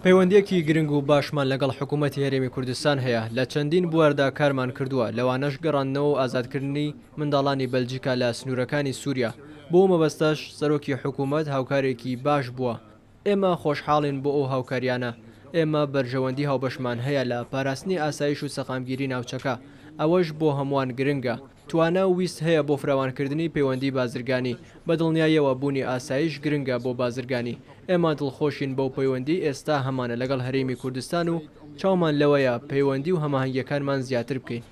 پەیوەندییەکی گرنگ و باشمان لەگەڵ حکوومەتی هەرێمی کوردستان هەیە، لە چەندین بواردا کارمان کردووە، لەوانەش گەڕاندنەوە و ئازادکردنی منداڵانی بەلجیکا لە سنوورەکانی سووریا، بۆ ئەو مەبەستەش سەرۆکی حکوومەت هاوکارێکی باش بووە، ئێمە خۆشحاڵین بۆ ئەو هاوکارییانە، ئێمە بەرژەوەندی هاوبەشمان هەیە لە پاراستنی ئاسایش و سەقامگیری ناوچەکە، ئەوەش بۆ هەمووان گرنگە. توانا و ویست هەیە بۆ فراوانکردنی پەیوەندی بازرگانی، بە دڵنیاییەوە بوونی ئاسایش گرنگە بۆ بازرگانی، ئێمە دڵخۆشین بەو پەیوەندیەی ئێستا هەمانە لەگەڵ هەرێمی کوردستان و چاومان لەوەیە پەیوەندی و هەماهەنگیەکانمان زیاتر بکەین.